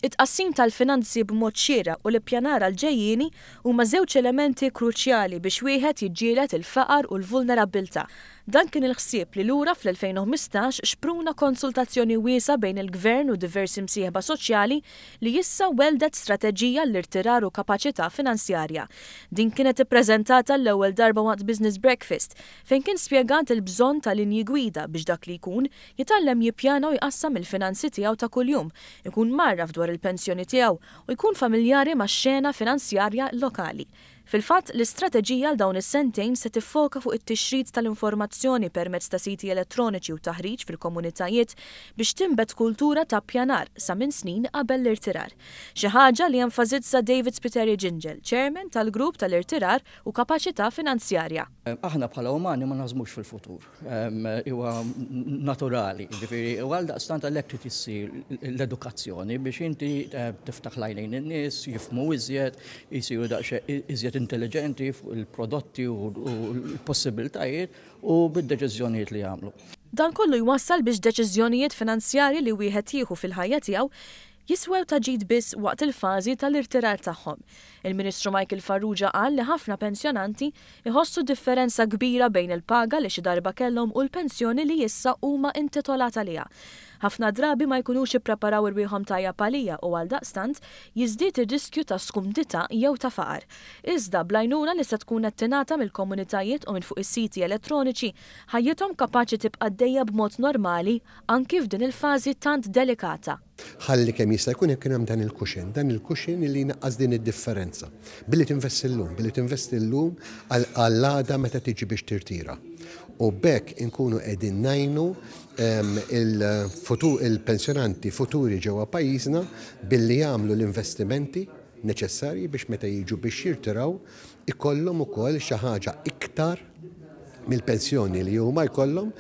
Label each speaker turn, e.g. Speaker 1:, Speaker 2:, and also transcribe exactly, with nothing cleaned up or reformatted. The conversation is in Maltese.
Speaker 1: It-tqassim tal-finanzi b'mod xieraq u l-ippjanar għall-ġejjieni huma żewġ elementi kruċjali biex wieħed jiġġieled il-faqar u l-vulnerabbiltà. Dan kien il-ħsieb li lura fl-elfejn u ħmistax xpruna konsultazzjoni wiesgħa bejn il-Gvern u diversi msieħba soċjali li issa weldet strateġija l-irtirar u kapaċità finanzjarja. Din kienet ippreżentata l-ewwel darba waqt Business Breakfast, fejn kien spjegat il-bżonn ta' linji gwida biex dak li jkun jitgħallem jippjana u jqassam il-finanzi tiegħu ta' kuljum, ikun mgħarraf dwar il-pensjoni tiegħu u jkun familjari max-xena finanzjarja lokali. Fil-fatt, l-istrateġija għal dawn is-sentejn se tiffoka fuq it-tixrid tal-informazzjoni permezz ta' siti elettroniċi u taħriġ fil-komunitajiet biex tinbet kultura ta' pjanar sa minn snin qabel l-irtirar. Xi ħaġa li enfasizza David Spiteri Gingell, chairman tal-grupp tal-irtirar u kapaċità finanzjarja.
Speaker 2: Aħna bħala umani ma naħsbux fil-futur. Huwa naturali, ġifieri, u għal daqstant għalhekk trid issir l-edukazzjoni biex inti tiftaħ l-għajnejn in-nies, jifhmu iżjed, jisiru daqsxejn iżjed intelligenti fuq il-prodotti u l-possibiltajiet u bid-deċiżjonijiet li jagħmlu.
Speaker 1: Dan kollu jwassal biex deċiżjonijiet finanzjarji li wieħed jieħu fil-ħajja tiegħu jiswew ta' ġid biss waqt il-fażi tal-irtirar tagħhom. Il-Ministru Michael Farrugia qal li ħafna pensjonanti iħossu differenza kbira bejn il-paga li xi darba kellhom u l-pensjoni li issa huma intitolata għaliha. Ħafna drabi ma jkunux ippreparaw irwieħhom tajjeb għaliha u għal daqstant jiżdied ir-riskju ta' skumdità jew ta' faqar. Iżda bl-għajnuna li se tkun qed tingħata mill-komunitajiet u minn fuq is-siti elettroniċi, ħajjithom kapaċi tibqa' għaddejja b'mod normali anki f'din il-fażi tant delikata.
Speaker 3: Ħalli kemm jista' jkun jekk hemm dan il-cushion, dan il-cushion li jnaqqas din id-differenza. Billi tinvesti llum, billi tinvesti llum għall-għada meta tiġi biex tirtira. U b'hekk inkunu qegħdin ngħinu, ehm, il-pensjonanti futuri ġewwa pajjiżna billi jagħmlu l-investimenti neċessarji biex meta jiġu biex jirtiraw ikollhom ukoll xi ħaġa iktar mill-pensjoni li huma jkollhom.